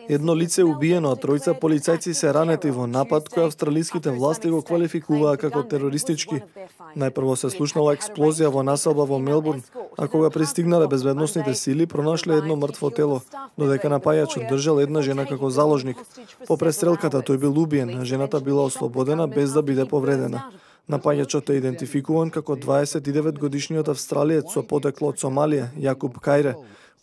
Едно лице е убиено, а тројца полицајци се ранети во напад кој австралиските власти го квалификуваа како терористички. Најпрво се слушнала експлозија во населба во Мелбурн, а кога пристигнале безбедносните сили, пронашле едно мртво тело, додека напајачот држал една жена како заложник. По престрелката тој бил убиен, а жената била ослободена без да биде повредена. Напајачот е идентификуван како 29-годишниот австралиец со потекло од Сомалија, Јакуб Кајре,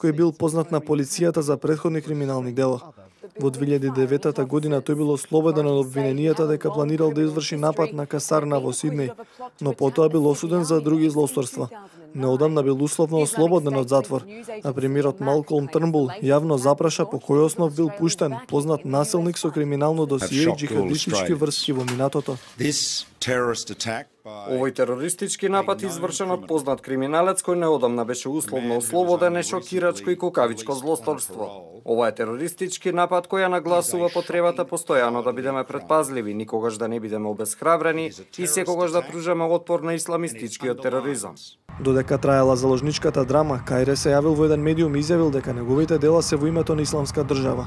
кој бил познат на полицијата за претходни криминални дела. Во 2009 година тој бил ослободен од обвиненијата дека планирал да изврши напад на касарна во Сиднеј, но потоа бил осуден за други злосторства. Неодамна бил условно ослободен од затвор, а премиерот Малколм Трнбул јавно запраша по кој основ бил пуштен познат насилник со криминално досие и џихадистички врски во минатото. Овој терористички напад извршен од познат криминалец кој неодамна беше условно ослободен е шокирачко и кукавичко злосторство. Ова е терористички напад кој ја нагласува потребата постојано да бидеме предпазливи, никогаш да не бидеме обесхрабрени и секогаш да пружаме отпор на исламистичкиот тероризам. Додека траела заложничката драма, Кајре се јавил во еден медиум и изјавил дека неговите дела се во името на исламска држава.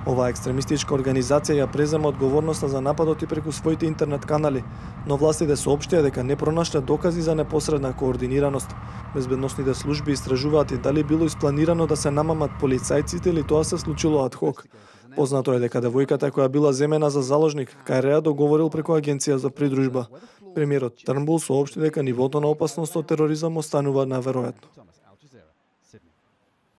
Оваа екстремистичка организација ја презема одговорноста за нападот и преку своите интернет канали, но властите соопштија дека не пронашле докази за непосредна координираност. Безбедносните служби истражуваат и дали било испланирано да се намамат полицајците или тоа се случило ад хок. Познато е дека девојката која била земена за заложник, Кајреа договорил преку агенција за придружба. Премиерот Трнбул соопшти дека нивото на опасност од тероризам останува неверојатно.